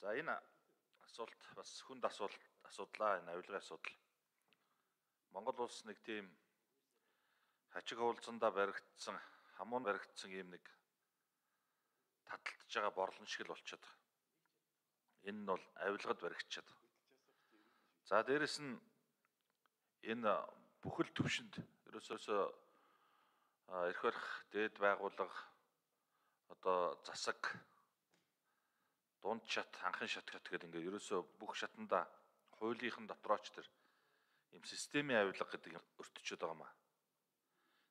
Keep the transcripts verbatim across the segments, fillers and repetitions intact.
За энэ асуулт бас хүнд асуулт асуудлаа энэ авилгын асуудал. Монгол улс нэг тийм хачиг хуулцсандаа баригдсан, хамуун баригдсан юм нэг таталтж байгаа борлон шиг л болчиход байгаа. Энэ нь бол авилгад баригдчихад. За дээрэс нь энэ бүхэл төвшөнд ерөөсөөсөө эрх барих дээд байгууллага одоо засаг дунд шат, анхын шат гэдэг ингээд ерөөсөө бүх шатанда хуулийнхан дотрооч тэр юм системийн авилга гэдэг юм өртөчөд байгаа маа.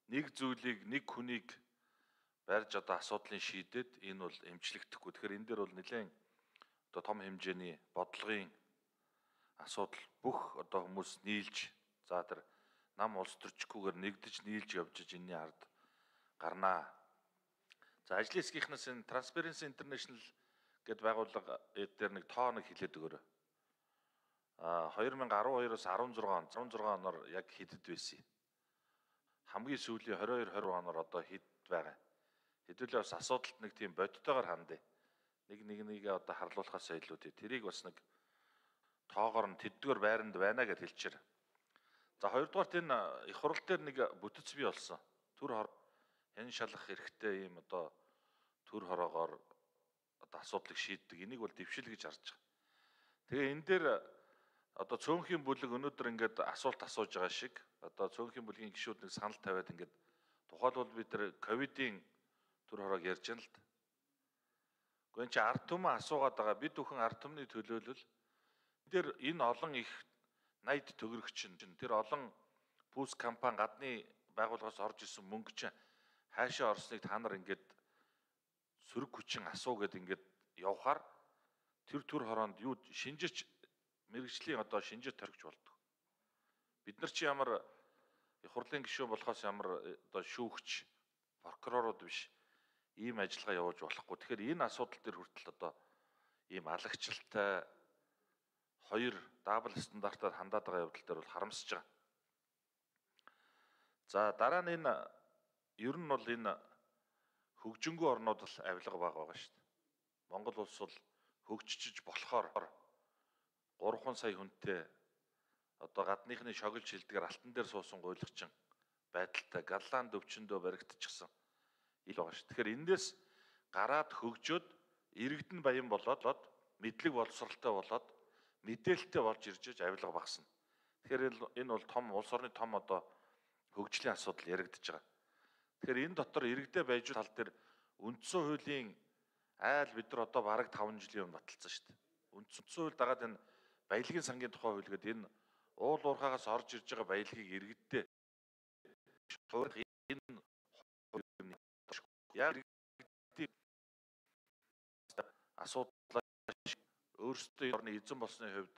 Нэг зүйлийг нэг хүнийг барьж одоо асуудлыг шийдээд энэ бол эмчлэгдэхгүй. Тэгэхээр энэ дээр бол нэлээд одоо том хэмжээний бодлогын асуудал бүх одоо хүмүүс нийлж за тэр нам улс төрчгүйгээр нэгдэж нийлж явж энэний ард гарнаа. За ажлын хэсгийнхнаас энэ Transparency International гэд байгууллага дээр нэг тоо нэг хэлээд өгөөрэй. А две тысячи десять оноос десять он, десять оноор яг хэдэд байсан юм. Хамгийн сүүлийн двадцать two двадцать оноор одоо хэд байгаа. Хэдүүлээ бас асуудалд нэг тийм бодтойгоор хандъя. Нэг нэг нэгээ одоо харлуулахаас илүү тий. Тэрийг бас нэг тоогоор нь тэдгээр байранд байна гэж хэлчихээр. За хоёрдугаарт энэ их хурал дээр нэг бүтэц бий болсон. Түр хор хэн шалгах хэрэгтэй юм одоо түр хороогоор одоо асуудлыг шийддэг. Энийг бол дэвшил гэж харж байгаа. Тэгээ энэ дээр одоо цөөнхийн бүлэг өнөөдөр ингээд асуулт асууж байгаа шиг одоо цөөнхийн бүлгийн гишүүд нэг санал тавиад ингээд тухайлбал бид тэр ковидын түр хороог ярьж байна л да. Гэхдээ энэ чи ард түмэн асуугаад байгаа. Бид бүхэн ард түмний төлөөлөл дээр энэ олон их найд төгрөгч чинь тэр олон пүүс компани гадны байгууллагаас орж исэн мөнгө чинь хаашаа орсныг та нар ингээд сөрөг хүчин асуу гэд ингээд явхаар тэр түр хороонд юу шинжирч мэрэгжлийн одоо шинжир төрөгч болдог. Бид нар чи ямар их хурлын гишүүн болохоос ямар одоо шүүгч прокурорууд биш ийм ажиллагаа явуулж болохгүй. Тэгэхээр энэ асуудал дээр хүртэл одоо ийм алагчлалтай хоёр дабл стандартаар хандаад байгаа явдал дээр бол харамсаж байгаа. За дараа нь энэ ер нь бол энэ хөгжингүй орнууд л авилга баг байгаа шүү дээ. Монгол улс бол хөгжиж болохоор гурван сая хүнтэй одоо гадныхны шогилж хилдгээр алтан дээр суусан гуйлгчин байдалтай галлаан дөвчөндөө баригдчихсан ил байгаа шүү. Тэгэхээр эндээс гараад хөгжөөд иргэдэн баян болоод мэдлэг боловсралтай болоод мэдээлэлтэй болж ирж авилга багасна. Тэгэхээр энэ бол том улс орны том одоо хөгжлийн асуудал яригдж байгаа. Тэгэхээр энэ дотор иргэдээ байж тал дээр үндсэн хуулийн айл бид нар одоо бараг таван жилийн өмнө баталсан шүү дээ. Үндсэн хууль дагаад энэ баялагын сангийн тухай хууль гэдэг энэ уул уурхаагаас орж ирж байгаа баялагийг иргэддээ энэ яг иргэдийн асуудал өөрсдөө орны эзэн болсны хувьд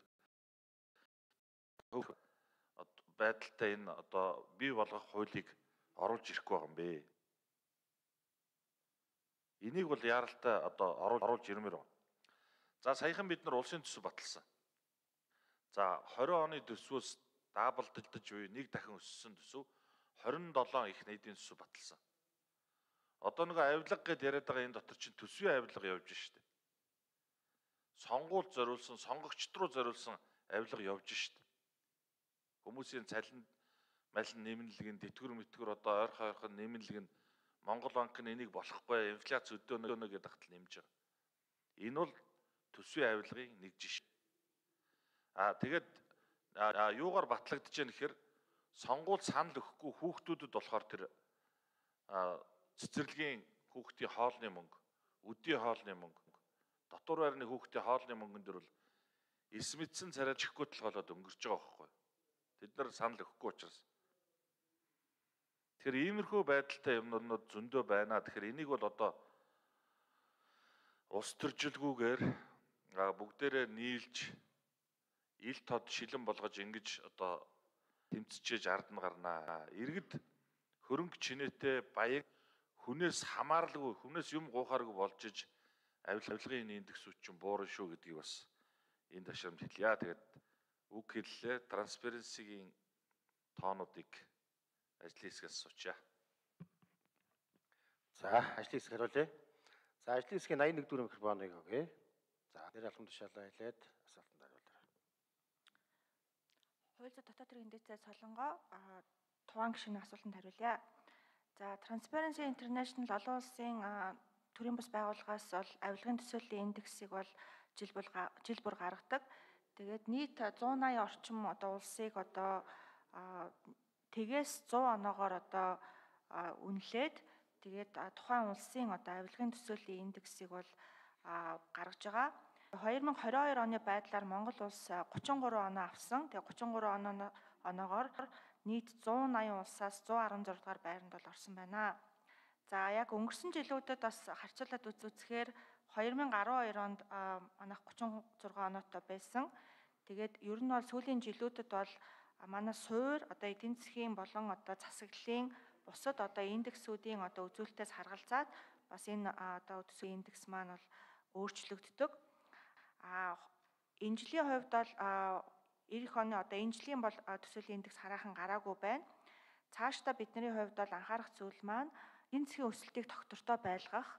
байдалтай энэ одоо бий болгох хуулийг оруулж ирэхгүй байгаа юм бэ. Энийг бол яаралтай одоо оруулж ирмээр байна. За саяхан бид нар улсын төсөв баталсан. За двадцать оны төсвөөс даабалдаж буй нэг дахин өссөн төсөв двадцать seven их нийтийн төсөв баталсан. Одоо нэг авилга гэдээ яриад байгаа энэ дотор чинь төсвийн авилга явж штэ. Сонгуульд зориулсан, сонгогчд руу зориулсан авилга явж штэ. Хүмүүсийн цалин малин нэмэлтийн тэтгэр мэтгэр одоо ойрхон ойрхон нэмэлтийн Монгол банк нь энийг болохгүй инфляц өдөөнө гэдэг хатал нэмж байгаа. Энэ бол төсвийн авилгын нэг жишээ. Аа тэгээд юугаар батлагдаж байна гэхээр сонгуул санал өгөхгүй хүүхдүүдэд болохоор тэр цэцэрлэгийн хүүхдийн хоолны мөнгө, өдийн хоолны мөнгө, дотор байрны хүүхдийн хоолны мөнгөн дөр бол эс мэдсэн царай чихгүй толгоолоод өнгөрч байгаа байхгүй. Тэд нар санал өгөхгүй учраас. Тэгэхээр иймэрхүү байдалтай юмнууд зөндөө байна. Тэгэхээр энийг бол одоо улс төржилгүйгээр бүгдээрээ нийлж ил тод шилэн болгож ингэж одоо тэмцэж ард нь гарнаа. Иргэд хөрөнгө чинээтэй баян хүнээс хамааралгүй, хүнээс юм гуйхааргүй болж иж авилгын индекс үчин буурна шүү гэдгийг бас энэ ташаамд хэлье. Тэгээд үг хэллээ. Transparency-гийн тоонуудыг ажлын хэсгээс суучаа. За ажлын хэсэг хариулъя. За ажлын хэсгийн eighty-one дөрөв микрофоныг өгье. За нэр алхам тушаалаа хэлээд асуултанд хариулаарай. Хууль зүйн дотоод хэргийн дэвтэр Солонгоо тухайн гишүүний асуултанд хариулъя. За Transparency International олон улсын төрийн бас байгууллагаас бол авилгын төсөөлийн индексийг бол жил бүр жил бүр гаргадаг. Тэгээд нийт зуун аян орчим одоо улсыг одоо тэгээс зуун оноогоор одоо үнэлээд тэгээд тухайн улсын одоо авилгын төсөөлийн индексийг бол гаргаж байгаа. хоёр мың хорин хоёр оны байдлаар Монгол улс гучин гурван оноо авсан. Тэгээд гучин гурван оноогоор нийт зуун аян улсаас зуун арван зураг дугаар байранд бол орсон байна. За яг өнгөрсөн жилүүдэд бас харьцуулаад үзүүлэхээр хоёр мың арван хоёр онд манайх гучин зураг оноотой байсан. Тэгээд ер нь бол сүүлийн жилүүдэд бол манай суур одоо эдийн засгийн болон одоо засаглалын бусад одоо индексүүдийн одоо үзүүлэлтээс харгалзаад бас энэ одоо төсвийн индекс маань бол өөрчлөгддөг. А энэ жилийн хувьд бол эх оны одоо энэ жилийн бол төсвийн индекс хараахан гараагүй байна. Цаашдаа бидний хувьд бол анхаарах зүйл маань эдийн засгийн өсөлтийг тогтвортой байлгах.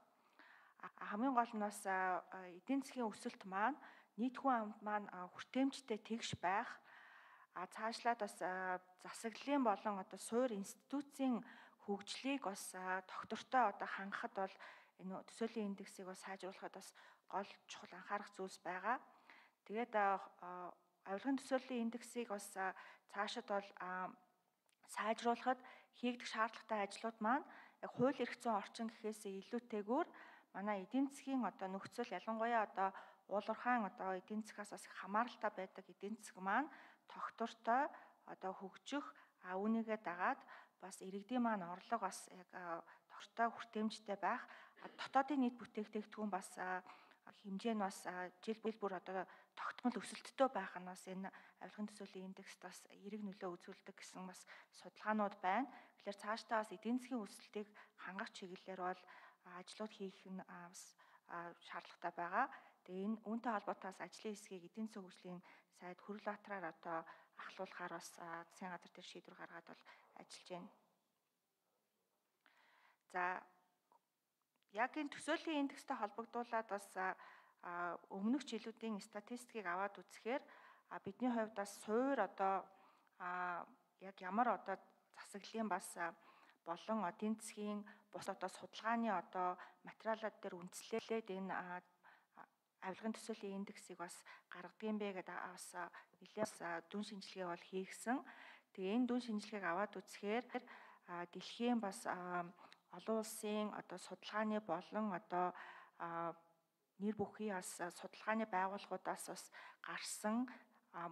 Хамгийн гол нь бас эдийн засгийн өсөлт маань нийт хүн амд маань хүртээмжтэй тэгш байх. А цаашлаад бас засаглалын болон одоо суур институцийн хөгжлийг бас тогтвортой одоо хангахад бол энэ төсөөлийн индексийг бас сайжруулахад бас гол чухал анхаарах зүйлс байгаа. Тэгээд авилгын төсөөлийн индексийг бас цаашид бол сайжруулахад хийгдэх шаардлагатай ажлууд маань яг хууль эрх зүйн орчин гэхээсээ илүүтэйгээр манай эдийн засгийн одоо нөхцөл ялангуяа одоо уулуурхаан одоо эдийн засгаас бас хамааралтай байдаг эдийн засаг маань тогтвортой одоо хөгжих а үүнийгээ дагаад бас иргэдийн маань орлого бас яг тогтвортой хүртээмжтэй байх дотоодын нийт бүтээгдэхүүн бас хэмжээ нь бас жил бүр одоо тогтмол өсөлттэй байх нь бас энэ авилгын төсөөлийн индекст бас эерэг нөлөө үзүүлдэг гэсэн бас судалгаанууд байна. Тэгэхээр цаашдаа бас эдийн засгийн өсөлтийг хангах чиглэлээр бол ажлууд хийх нь бас шаардлагатай байгаа. Тэгээ энэ үүнтэй холбоотойгоос ажлын хэсгийг эдийн засгийн хөгжлийн сайд Хүрэл Баатраар одоо ахлуулахаар бас засгийн газар дээр шийдвэр гаргаад бол ажиллаж байна. За яг энэ төсөөлийн индекстэй холбогдуулаад бас өмнөх жилүүдийн статистикийг аваад үзэхээр бидний хувьд бас суур одоо яг ямар одоо засаглалын бас болон эдийн засгийн бус одоо судалгааны одоо материалууд дээр үндэслээд энэ авилгын төсөөлийн индексийг бас гаргадаг юм бэ гэдэг бас нэлээд дүн шинжилгээ бол хийгсэн. Тэгээ энэ дүн шинжилгээг аваад үзэхээр дэлхийн бас олон улсын одоо судалгааны болон одоо нэр бүхий бас судалгааны байгууллагуудаас бас гарсан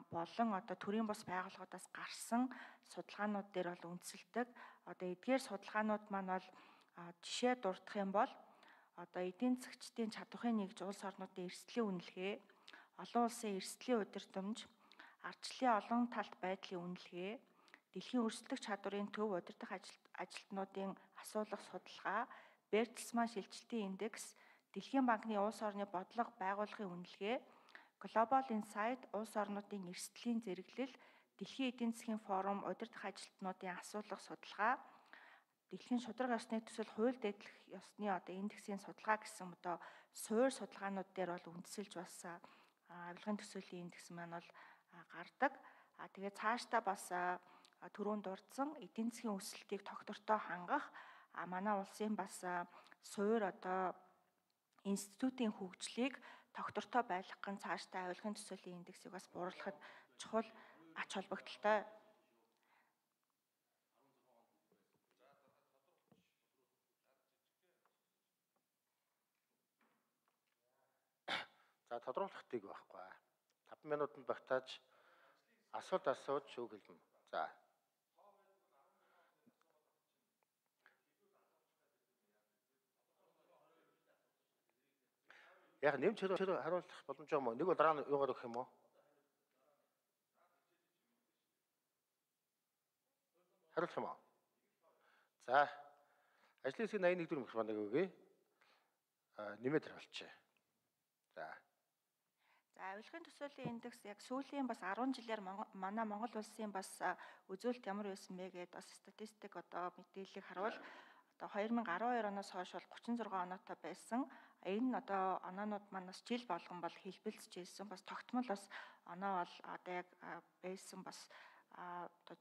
болон одоо төрийн бус байгууллагуудаас гарсан судалгаанууд дээр бол үндэслэдэг. Одоо эдгээр судалгаанууд маань бол жишээ дурдах юм бол одоо эдийн засгчдын чадварыг нэгж улс орнуудын эрсдлийн үнэлгээ, олон улсын эрсдлийн удирдамж, ардчлалын олон талт байдлын үнэлгээ, дэлхийн өрсөлдөх чадварын төв удирдах ажилтнуудын асуулах судалгаа, Бертельсман шилжилтийн индекс, Дэлхийн банкны улс орны бодлого байгууллагын үнэлгээ, Global Insight улс орнуудын эрсдлийн зэрэглэл, Дэлхийн эдийн засгийн форум удирдах ажилтнуудын асуулах судалгаа, Дэлхийн шударга ёсны төсөл хууль дэдлэх ёсны одоо индексийн судалгаа гэсэн одоо суур судалгаанууд дээр бол үндэслэж бас авилгын төсөөлийн индекс маань бол гардаг. А тэгээ цаашдаа бас түрүүнд дурдсан эдийн засгийн өсөлтийг тогтвортой хангах а манай улсын бас суур одоо институтийн хөгжлийг тогтвортой байлгах нь цаашдаа авилгын төсөөлийн индексийг бас бууруулахад чухал ач холбогдолтой. За тодруулахтыг байхгүй. таван минутанд багтааж асуулт асууж шүүх хэлнэ. За. Яг нэмж хариулах боломж юм уу? Нэг бол дараа нь юугаар өгөх юм уу? Хариулах юм уу? За. Ажлын хэсгийн восемь нэг дөрөв микрофоныг өгье. Аа нэмээд хариулчих. За. За авилгын төсөөлийн индекс яг сүүлийн бас арван жилээр манай Монгол улсын бас үзүүлэлт ямар байсан бэ гэдээ бас статистик одоо мэдээллийг харуул одоо хоёр мың арван хоёр оноос хойш бол гучин зургаан оноотой байсан. Энэ нь одоо оноонууд маань бас жил болгон бол хэлбэлцэж ирсэн. Бас тогтмол бас оноо бол одоо яг байсан бас одоо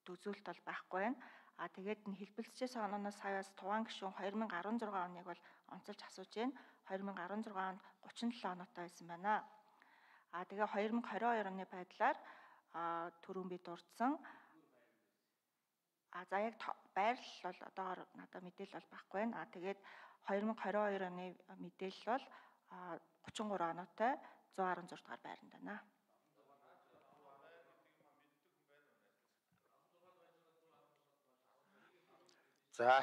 үзүүлэлт бол байхгүй байна. А тэгээд энэ хэлбэлцэжсэн онооноос хавьяас Тухайн гишүүн хоёр мянга арван зургаан оныг бол онцолж асууж байна. хоёр мянга арван зургаан онд гучин долоо оноотой байсан байна. А тэгээ хоёр мянга хорин хоёр оны байдлаар түрүүн би дурдсан. А за яг байрлал бол одоогоор надад мэдээлэл бол байхгүй байна. А тэгээд хоёр мянга хорин хоёр оны мэдээлэл бол гучин гурван оноотой зуун арван зург дахь байранд байна. За,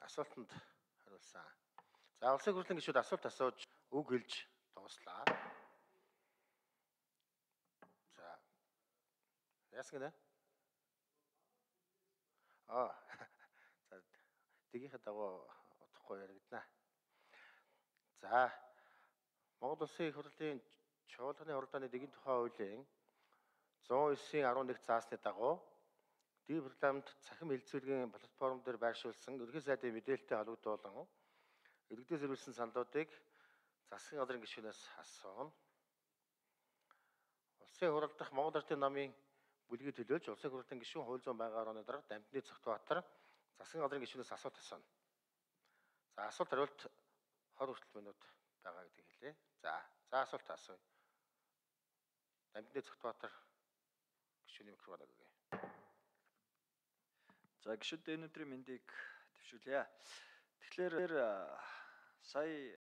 асуултанд хариулсан. За, улсын хурлын гишүүд асуулт асууж үг хэлж дууслаа. За. Яасан гэнэ? Аа. За, тгийнхээ дагуу утгагүй яригдана. За. Монгол Улсын их хурлын чуулганы уралдааны дэгийн тухай хуулийн зуун девять арван нэг заасны дагуу ди парламент цахим хэлцүүлгийн платформ дээр байршуулсан ерөнхий сайдын мэдээлэлтэй холбогдуулан иргэдээс ирүүлсэн саналуудыг засгийн газрын гишүүнээс асууна. Улсын хурал дахь Монгол Ардын намын бүлгийг төлөөлж улсын хурлын гишүүн хууль зүйн байнгын орны дарга Дамжны Цогтбаатар засгийн газрын гишүүнээс асуулт асууна. За, асуулт хариулт хор хүртэл минут байгаа гэдгийг хэлье. За, за асуулт асууя. Дамжны Цогтбаатар гишүүний микрофон өгье. За гишүүд өнөөдрийн мэндийг төвшүүлье. Тэгэхээр сая